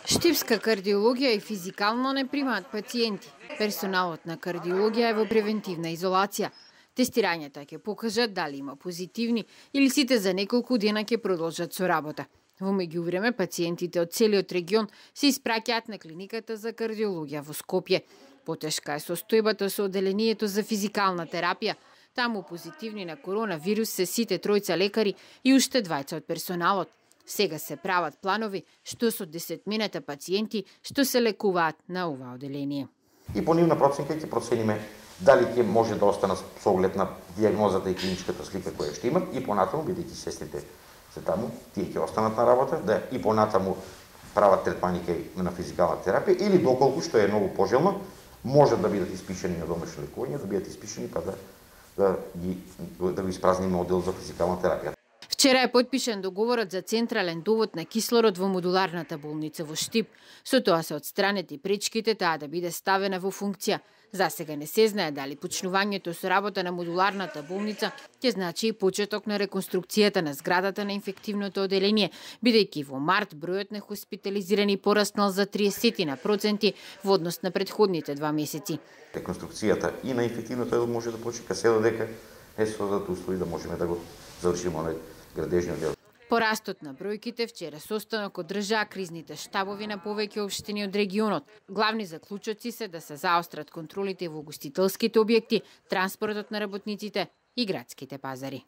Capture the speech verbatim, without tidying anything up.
Штипска кардиологија и физикално не примаат пациенти. Персоналот на кардиологија е во превентивна изолација. Тестирањата ќе покажат дали има позитивни или сите за неколку дена ќе продолжат со работа. Во меѓувреме, пациентите од целиот регион се испраќаат на клиниката за кардиологија во Скопје. Потешка е состојбата со оделението за физикална терапија. Таму позитивни на коронавирус се сите тројца лекари и уште двајца од персоналот. Сега се прават планови што со десетмината пациенти што се лекуваат на ова оделение. И по нивна проценка ќе процениме дали ќе може да останат со оглед на дијагнозата и клиничката слика која ќе имат и понатаму, бидејќи сестрите се таму, тие ќе останат на работа, да и понатаму прават третмани на физикална терапија или доколку што е многу пожелно, можат да бидат испишани на домашно лекување, да бидат испишани па да да ги да го испразниме оддел за физикална терапија. Вчера е потпишан договорот за централен довод на кислород во модуларната болница во Штип. Со тоа се отстранети пречките таа да биде ставена во функција. За сега не се знае дали почнувањето со работа на модуларната болница ќе значи и почеток на реконструкцијата на зградата на инфективното оделение, бидејќи во март бројот на хоспитализирани пораснал за триесет на проценти во однос на претходните два месеци. Реконструкцијата и на инфективното одел може да почека се додека е создадат услови да можеме да го завршиме оној градежниот дел. Порастот на бројките вчера состанок одржаа кризните штабови на повеќе општини од регионот. Главни заклучоци се да се заострат контролите во угостителските објекти, транспортот на работниците и градските пазари.